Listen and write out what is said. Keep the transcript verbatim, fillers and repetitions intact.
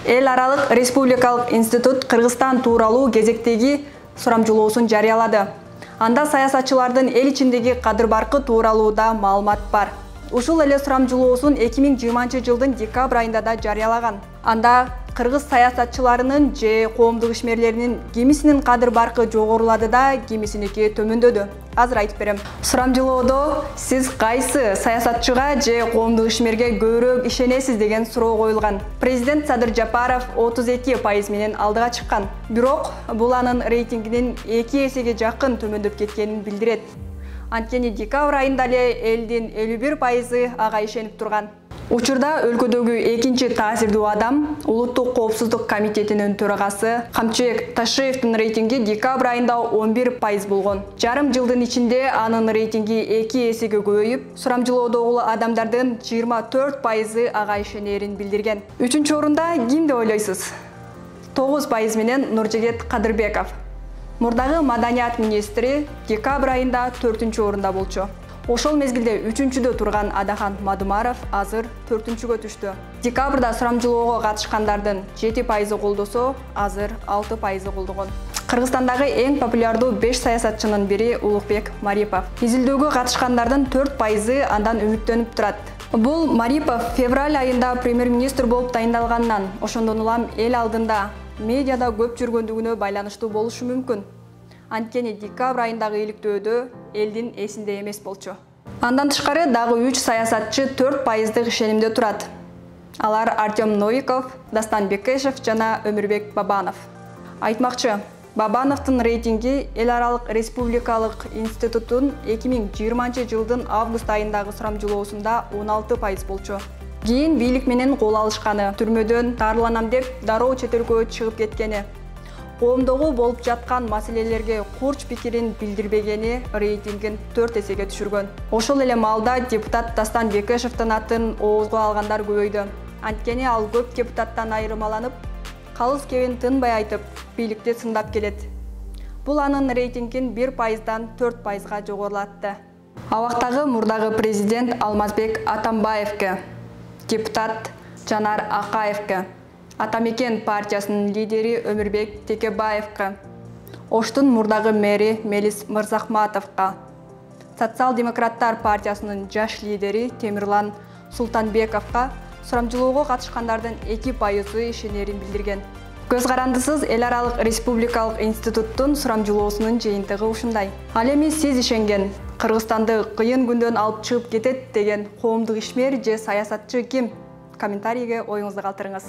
Эл аралык республикалык институт Кыргызстан тууралуу кезектеги сурамжылоосун жарыялады. Анда саясатчылардын эл ичиндеги кадыр-баркы тууралуу да маалымат бар. Ушул эле сурамжылоосун эки миң жыйырманчы жылдын декабрь айында да жарыялаган. Анда кыргыз саясатчыларынын же коомдук ишмерлеринин кимисинин кадыр-баркы жогорулады да, кимисиники төмөндөдү. Азыр айтып берем. Сурамжылоодо сиз кайсы саясатчыга же коомдук ишмерге көбүрөөк ишенесиз деген суроо коюлган. Президент Садыр Жапаров отуз эки пайыз менен алдыга чыккан. Бирок бул анын рейтингинин эки эсеге жакын төмөндөп кеткенин билдирет. Анткени декабрь айында эле элдин элүү бир пайызы ага ишенип турган. Учурда өлкөдөгү экинчи таасирдүү адам Улуттук коопсуздук комитетинин төрагасы Камчыбек Ташиевдин рейтинги декабрь айында он бир пайыз болгон. Жарым жылдын ичинде анын рейтинги эки эсеге көбөйүп, сурамжылоодогу адамдардын жыйырма төрт пайызы ага ишенерин билдирген. Үчүнчү орунда ким деп ойлойсуз? тогуз пайыз менен Нуржегет Кадырбеков. Мурдагы маданият министри декабрь айында төртүнчү орунда болчу. Ошол мезгилде үчүнчүдө турган Адахан Мадумаров азыр төртүнчүгө түштү. Декабрда сурамжылоого катышкандардын жети пайызы колдосо, азыр алты пайызы колдогон. Кыргызстандагы эң популярдуу беш саясатчынын бири Улукбек Марипов. Изилдөөгө катышкандардын төрт пайызы андан үмүттөнүп турат. Бул Марипов февраль айында премьер-министр болуп тайындалганынан, ошондон улам эл алдында медиада көп жүргөндүгүнө байланыштуу болушу мүмкүн. Анткени декабрь айындагы иликтөөдө элдин эсинде эмес болчу. Андан тышкары дагы үч саясатчы төрт пайыздык ишенимде турат. Алар Артем Новиков, Дастан Бекешев жана Өмүрбек Бабанов. Айтмакчы, Бабановдун рейтинги Эл аралык республикалык институттун эки миң жыйырманчы жылдын август айындагы сурамжылоосунда он алты пайыз болчу. Кийин бийлик менен кол алышканы, түрмөдөн дарыланам деп дароо чет өлкөгө чыгып кеткени, коомдогу болуп жаткан маселелерге курч пикирин билдирбегени рейтингин төрт эсеге түшүргөн. Ошол эле маалда депутат Дастан Бекешевдин атын оозго алгандар көбөйдү. Анткени ал көп депутаттан айырмаланып, калыс кебин тынбай айтып, бийликти сындап келет. Бул анын рейтингин бир пайыздан төрт пайызга жогорулатты. Абактагы мурдагы президент Алмазбек Атамбаевке, депутат Жанар Акаевке, Атамекен партиясынын лидери Өмүрбек Текебаевка, Оштун мурдагы мэри Мелис Мырзахматовго, Социал-демократтар партиясынын жаш лидери Темирлан Султанбековго сурамжылоого катышкандардын эки пайызы ишенерин билдирген. Көз карандысыз Эл аралык республикалык институттун сурамжылоосунун жыйынтыгы ушундай. Ал эми сиз ишенген, Кыргызстанды кыйын күндөн алып чыгып кетет деген коомдук ишмер же саясатчы ким? Комментарийге оюңузду калтырыңыз.